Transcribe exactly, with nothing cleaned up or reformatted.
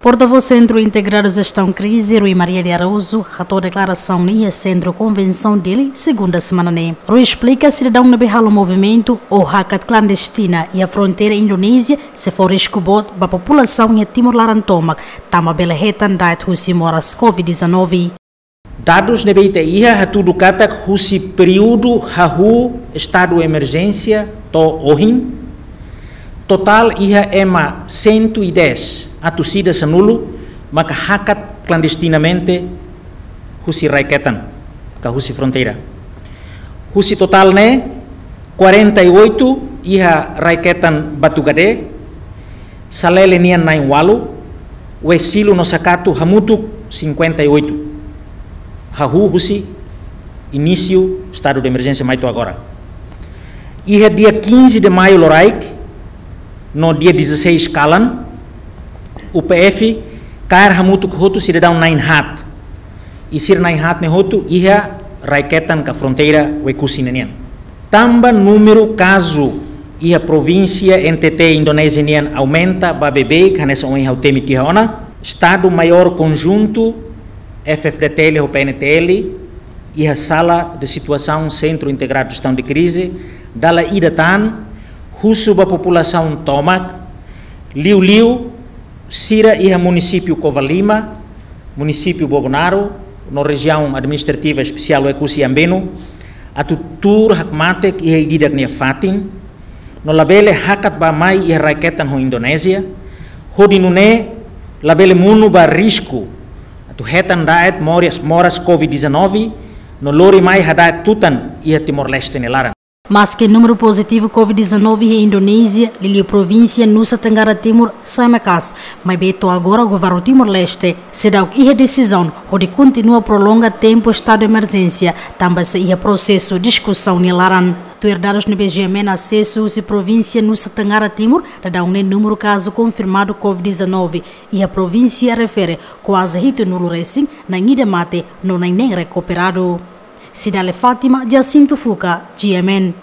Portavós Sentru Integradu Jestaun Krize, Rui Maria de Araújo, hato'o deklarasaun ne'e iha Sentru Konvensaun Dili, segunda semana ne'e. Rui esplika sidadaun ne'ebé halo movimentu ou hakat klandestina iha fronteira Indonézia sei fó risku boot ba populasaun iha Timor laran tomak, tanba bele hetan da'et husi moras covid dezanove. Dadus ne'ebé ita iha hatudu katak husi períodu hahú estadu emerjénsia to'o ohin, totál iha ema cento e dez atus ida sanulu maka hakat klandestinamente husi rai-ketan ka husi fronteira. Husi totál ne'e, quarenta e oito iha rai-ketan Batugade, Salele nian na'in-ualu, Wesilu no Sakatu hamutuk cinquenta e oito. Hahú husi inísiu estadu de emerjénsia mai to'o agora. Iha dia quinze de maio loraik, no dia dezasseis kalan, U P F kaer hamutuk hotu sidadaun na'in-haat. I sira na'in-haat ne'e hotu iha rai-ketan ka fronteira Oekusi ne'e nian. Tanba númeru kazu iha provínsia N T T Indonézia nian aumenta ba beibeik, hanesan ohin ha'u temi tiha ona, Estadu Maiór Konjuntu, F F D T L ho P N T L, iha Sala de Situasaun Sentru Integradu Jestaun de Krize, dala ida tan, husu ba populasaun tomak, liuliu sira iha munisípiu Covalima, munisípiu Bobonaro, no Rejiaun Administrativa Espesiál Oekusi Ambeno, atu tuur hakmatek iha ida-idak nia fatin, no labele hakat bá-mai iha rai-ketan ho Indonézia, hodi nune'e labele monu ba risku atu hetan da'et moras, moras covid dezanove, no lori mai hada'et tutan iha Timor-Leste nia laran. Maske númeru pozitivu covid dezanove iha Indonézia, liuliu provínsia Nusa Tenggara Timur, sai maka'as, maibé to'o agora governu Timor-Leste seidauk iha desizaun hodi kontinua prolonga tempu estadu emerjénsia, tanba sei iha prosesu diskusaun nia laran. Tuir dadus ne'ebé G M N asesu husi provínsia Nusa Tenggara Timur, daudaun ne'e númeru kazu konfirmadu covid dezanove iha provínsia refere kuaze hitunulu resin, na'in ida mate no na'in neen rekuperadu. Cidália Fátima, Jacinto Fuca, G M N.